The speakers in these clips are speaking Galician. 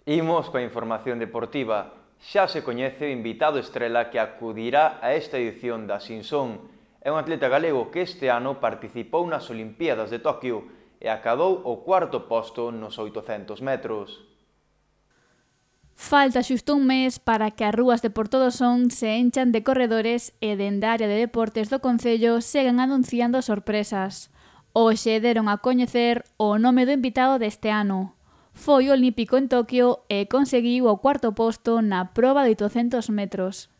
Imos coa información deportiva. Xa se coñece o invitado estrela que acudirá a esta edición da Simpson. É un atleta galego que este ano participou nas Olimpíadas de Toquio e acadou o cuarto posto nos 800 metros. Falta xusto un mes para que as rúas de Portodosón se enchan de corredores e dende a área de deportes do Concello seguen anunciando sorpresas. Hoxe deron a coñecer o nome do invitado deste ano. Foi olímpico en Toquio e conseguiu o cuarto posto na proba de 800 metros.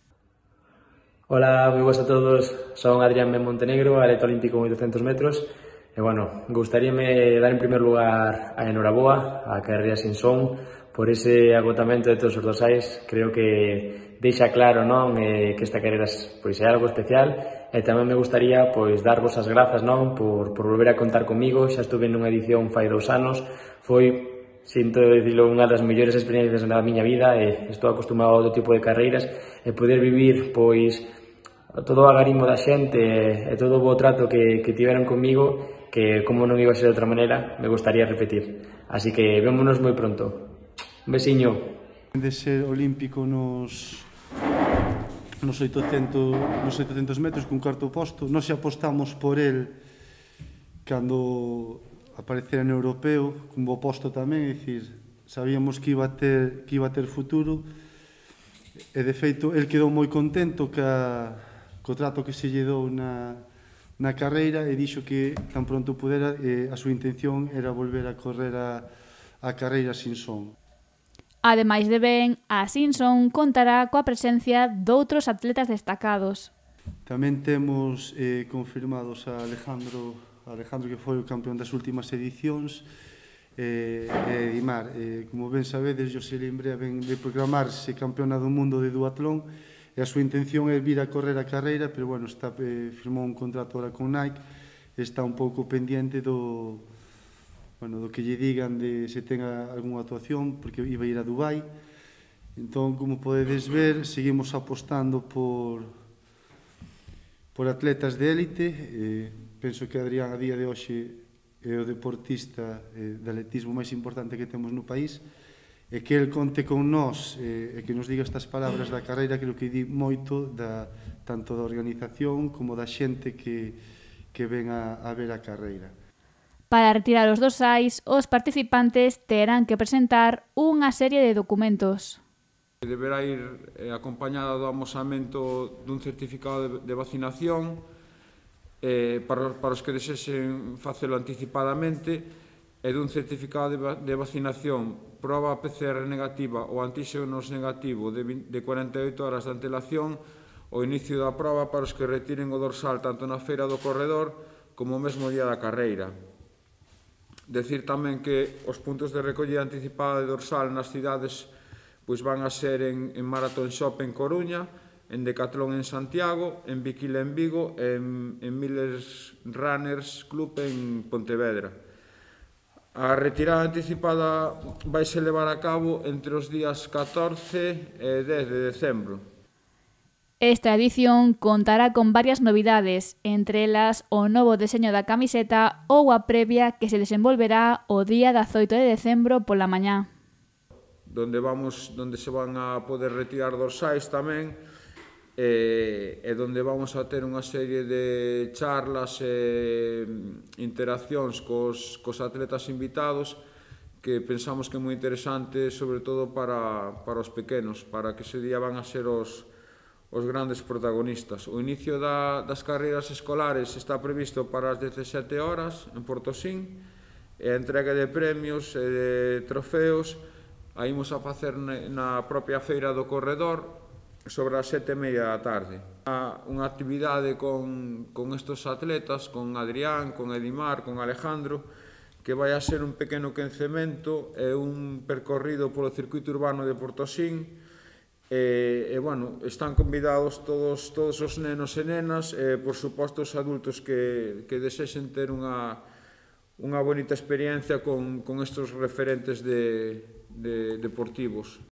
Hola, moi boas a todos. Son Adrián Ben Montenegro, atleta olímpico en 800 metros. E, gustaríame dar en primer lugar a enhoraboa a carreira Simpson por ese agotamento de todos os dorsais. Creo que deixa claro, non, que esta carreira é algo especial. E tamén me gustaría darvos as grazas, non, por volver a contar comigo. Xa estuve nunha edición fai 2 anos. Foi, sinto dicilo, unha das mellores experiencias da miña vida e estou acostumado a outro tipo de carreiras e poder vivir todo o agarimo da xente e todo o bo trato que tiveron comigo, que como non iba a ser de outra maneira, me gustaría repetir. Así que vémonos moi pronto. Un besiño. De ser olímpico nos 800 metros cun cuarto posto, nós xa apostamos por el cando aparecera no europeo, cun bo posto tamén, é dicir, sabíamos que iba a ter futuro e de feito el quedou moi contento co trato que se lle dou na carreira e dixo que tan pronto pudera a súa intención era volver a correr a carreira Simpson. Ademais de Ben, a Simpson contará coa presencia doutros atletas destacados. Tamén temos confirmados a Alejandro, que foi o campeón das últimas edicións, e Dimar, como ben sabedes, José Limbrea ven de proclamarse campeona do mundo de duatlón e a súa intención é vir a correr a carreira, pero firmou un contrato ahora con Nike e está un pouco pendiente do que lle digan de se tenga algunha actuación, porque iba a ir a Dubai. Entón, como podedes ver, seguimos apostando por atletas de élite. Penso que Adrián a día de hoxe é o deportista de atletismo máis importante que temos no país e que el conte con nós e que nos diga estas palabras da carreira, creo que di moito tanto da organización como da xente que ven a ver a carreira. Para retirar os dorsais, os participantes terán que presentar unha serie de documentos. Deberá ir acompañada do amosamento dun certificado de vacinación para os que desexen facelo anticipadamente e dun certificado de vacinación proba PCR negativa ou antíxenos negativo de 48 horas de antelación ao inicio da proba para os que retiren o dorsal tanto na feira do corredor como o mesmo día da carreira. Decir tamén que os puntos de recollida anticipada de dorsal nas cidades van a ser en Marathon Shop en Coruña, en Decathlon en Santiago, en Bikila en Vigo e en Millers Runners Club en Pontevedra. A retirada anticipada vaise levar a cabo entre os días 14 e 10 de decembro. Esta edición contará con varias novidades, entre elas o novo deseño da camiseta ou a previa que se desenvolverá o día 18 de decembro pola mañá. Donde se van a poder retirar dorsais tamén e donde vamos a ter unha serie de charlas e interaccións cos atletas invitados que pensamos que é moi interesante, sobre todo para os pequenos, para que ese día van a ser os grandes protagonistas. O inicio das carreiras escolares está previsto para as 17 horas en Portosín e a entrega de premios e de trofeos a imos a facer na propia feira do corredor sobre as 7:30 da tarde. Unha actividade con estes atletas, con Adrián, con Edimar, con Alejandro, que vai a ser un pequeno quencemento e un percorrido polo circuito urbano de Portosín. Están convidados todos os nenos e nenas e, por suposto, os adultos que desexen ter unha bonita experiencia con estes referentes deportivos.